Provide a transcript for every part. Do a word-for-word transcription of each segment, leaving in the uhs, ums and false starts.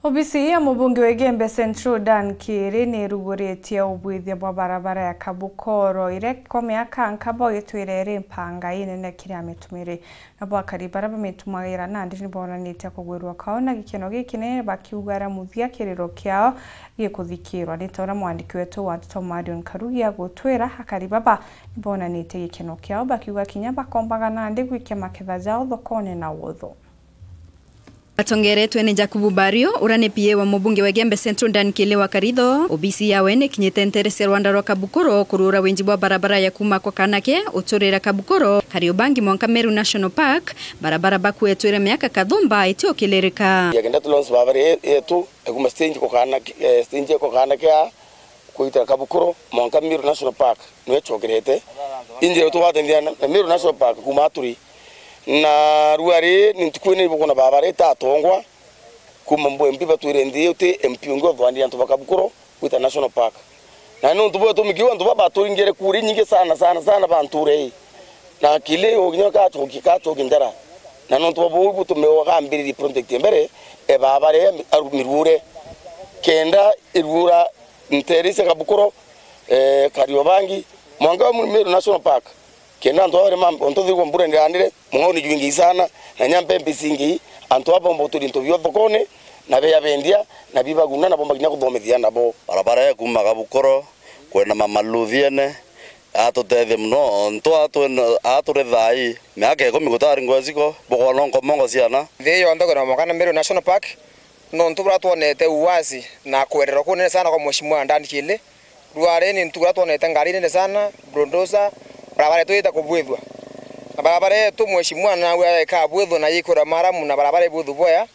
Obisi ya mubunge wa Igembe Central Dan Kiiri ni iruguritie ubwithia bwa barabara ya Kabukoro iria kwa miaka nkabo itwire iri mpanga inene kiri amitumiri. Nabo akari baria bamitumagira nandi ni bonanitie kugwirua kwao na gikeno gikinene, bakiuga aria muthia kiriro kiao gikuthikirwa. Ni ta uria mwandiki wetu wa ndeto Marion Karugi agutwira, akari baba ni bonanitie gikeno kiao bakiuga kinya bakombaga nandi gwikia maketha jao thokone na wotho. Atongeretwe ni Jakubu Bario, uria ni P A wa mubunge wa Igembe Central Dan Kiiri wa Karitho. Obisi yawe ni kinyite ntere cia rwanda rwa Kabukoro kurura winji bwa barabara ya kuma kwa Kanake uturira Kabukoro, Kariobangi mwanka Meru National Park, barabara bakuetwire miaka kathumba itiukilirika. Yagenda tu launch barabara ye-, yetu, ekuma stage kwa Kanake, eh, stage kwa Kanake a, kuita Kabukoro, mwanka Meru National Park, niwe chokerete. Injira tubatethia na, na Meru National Park kuma Aturi. Na rua ri ni ntuku ine ibukona barabara itatongwa, kuma mbu M P batwire nthi uti M P ungi uthwandie antu ba Kabukoro gwita National Park. Na nontu bwa tumikiu antu baba baturingire kuri nyingi sana, sana, sana ba nture ii. Na kili uginya kachoki, kachoki ndara. Na nontu bwa buu butume wakambiririe project mbere, e barabara ii aru-, mirure. Kenda irura ntere cia Kabukoro, eh, Kariobangi, mwanka wa Meru National Park. Kenda antu aba bari mambe, ontu thigwa mbura ndirandire, mung'ao ni jwingi sana, na nyampe mbi cingi, antu aba bomba uturia into bio thokone, na beya bendia, na bibaguna, na bomba kinya kuthomithia nabo. Barabara ya kuma Kabukoro kwenda Mama Luthiene, atutethie muno, ontu atwena, aturi thai, miaka ikumi gutari ngweciko, bukona nkomongo ciana. Nthi yonthe kwenda mwanka na Meru National Park, nontu buria twonete uwazi na kwererwa kunene sana kwa Mheshimiwa Dan Kiiri. Rware ni ntuku iria twonete ngari nene sana, bulldozer, barabara yetu yita kubwithua. Na barabara yetu Mheshimiwa nawe eka bwithua na yikura maramu na barabara ibwithu bwea.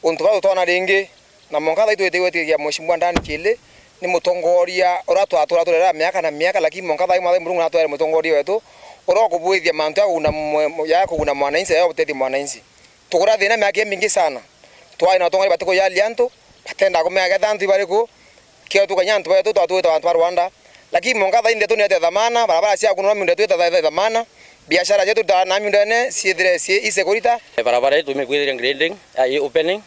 Untu bau tutona ringi, na mwanka thai twitiwe tigia Mheshimiwa Dan Kiiri ni mutongoria uria twatura turera miaka na miaka, lakini mwanka thai mwathai Murungu natwere mutongoria wetu uria ukubwithia mantu ya kuguna mwe-, ya kuguna mwananchi, ya gutethia mwananchi. Tukura thina miaka imingi sana. Twari na atongoria batikujalia antu, batenda kumenya ketha antu ibariku, kio tukanya antu betu twatwita antu ba Rwanda. Lakini mwanka thainde tunete thamana, barabara cia kunwa miunda twita tha-, tha-, thamana, biashara cietu ta na miundene ciithire ci-, isekurita. Barabara ii tumikwithiria grading, ai opening,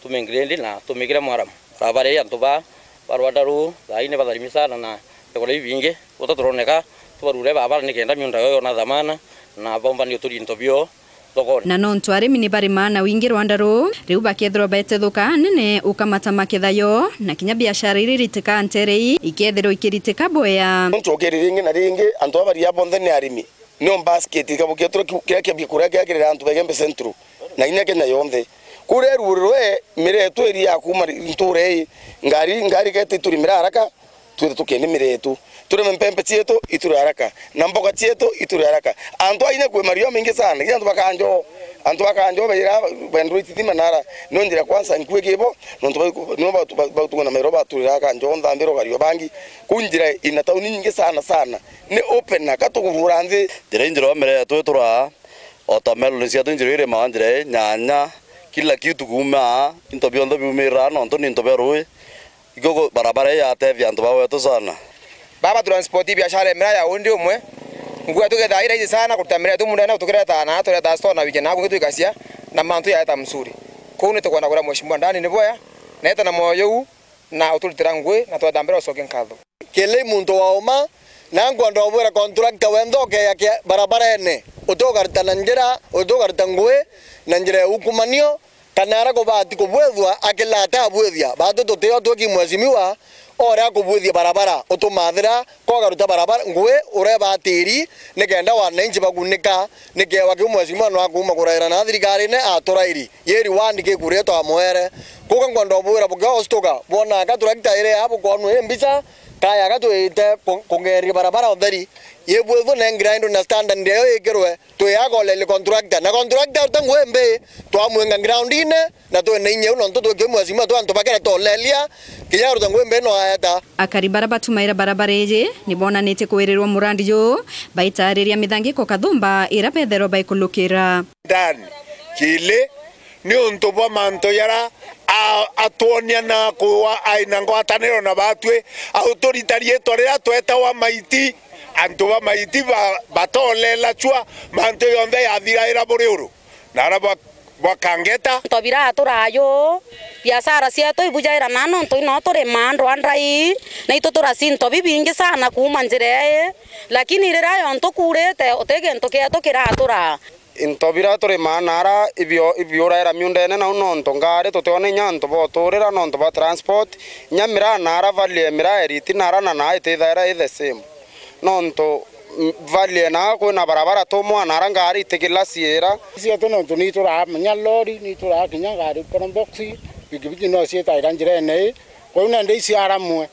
tumigrade na tumikire mwaramu. Barabara ii antu ba, ba Rwanda ruu, thaai ni batharimi sana na ikora ibingi, guta turoneka, tubarure barabara nikenda miunda yo yona thamana, na bombanie uturia into bio. thokone. Na nontu arimi ni barimaa na wingi rwanda ruu, riu bakethirwa baetethuka nene ukamata maketha yo, na kinya biashara iria iritika ntere ii ikethirwa ikiritika bwea. Nontu ukiri ringi na ringi, antu aba baria bonthe ni arimi. Nio basket ikabu kiria kiria kia bikuria kiria kirira antu ba Igembe Central, na inya Kenya yonthe. Kuria ruurirwe miretu iria ya kuma ntura ii, ngari, ngari kete iturimira haraka, twithe tukiendia miraa yetu, turime mpempe cietu iture haraka, na mboga cietu iture haraka. Antu a inya kwi mario maingi sana, kinya antu ba Kanjo, antu ba Kanjo baira bendwa itithima nara, no njira kwanza nkui kibo, nontu bau-, no bau-, bau-, bautungwa na mairo baturira Kanjo, Nthambiro, Kariobangi, ku njira ina tauni nyingi sana sana, ni open na katugurura nthi. Njira injira o miraa yetu itura, watermelon cietu njira irimaa njira ii, nyanya, kila kitu kuuma, into bionthe biumirira, nontu ni into bia rui. Igogo barabara ii yatethia antu ba wetu sana. Baba, transport biashara ya miraa ya undi umwe. Nguo tukethaa i rahisi sana kuruta miraa yetu mundene, tukireta na tureta store na wiki na kungi twikacia na mantu yaeta mzuri. Kuu ni tukwenda kwira Mheshimiwa Dan ni bwea, na eta na moyo uu na uturitira ngui na tweta mbere ucoke nkatho. Kili muntu wa uma, na nkwenda ubwira contractor wenthe ukeya kia-, barabarene, uti ukaruta na njira, uti ukaruta ngui na njira ya ukumanio, kana ara kubati kubwithua akila atabwithia. Batu tutio twiki mheshimiwa, ore akubwithia barabara, utumathira, kogaruta barabara, ngui urebatiri, nikenda wananchi bagunika, nikewa kiu mheshimiwa no akuuma kuraira na thirikarine aturairi. Yeri wandi kikuria twamwere. Kuka nkwenda ubwira bukiostuka, bwona aka turakita iri aa bukwonwa i mbica, kaya aka twite ku-, kungeria barabara utheri. Yibwithwe ne grind na standard eyo ikirwe, twi agoleli contractor. Na contractor uta ngui mbi, twamwinga ground-ine, na twina inya iu nontu twi kimwe cima twa antu bakira tolelia, kinya aruta ngui mbi no aeta. Akari bara batumaira barabara iji ni bonanitie kwirirwa murandi juu, baitariria mithangiko kathumba ira betherwa baikulukira. Dan Kili, ni untu bwa mantu jara a-, atwonia na kuwa aina ngwataniro na batwi, auturita riitwa riria twetawa maiti, antu ba maiti ba-, batolela cua, mantu jonthe yathiraira buri uru. Na ara ba-, Bwakangeta. Into biraturaa yu, biashara cietu ibujaira na nontu ino turimaa ndwandai, na itu turacia into bibingi sana kuuma njira ii, lakini riria yontu kuurite, uti gintu kietu kiraturaa. Into biria turimaa naara ibio-, ibiuraira miundene nau nontu ngari tutiona inya antu boturira nontu bwa transport, inya miraa naara value miraa eriti naara na naa itithaira i the same. Nontu, mm, value naa kwina barabara tumwa naara ngari itigila ciira. Cietu nontu ni ituraa kinya lori, ni ituraa kinya ngari probox, pikipiki no ciitaira njirene ii, kwou nende iciaramwe.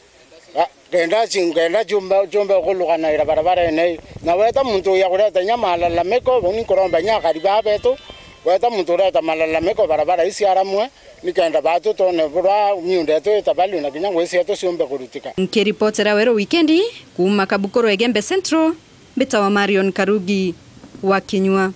Ah, kenda ci-, kenda ciumbe, ciumbe kulukanaira barabarene ii. Na weta muntu uya kureta inya malalamiko, bau ni nkuromba inya akari baa betu, weta muntu ureta malalamiko barabara iciaramwe, nikenda batu twone burwa miunda yetu itabali na kinya ngui cietu ciumbe kurutika. Nkiripotera Weru Wikendi kuuma Kabukuru Egembe Central, mbitawa Marion Karugi wa Kinyua.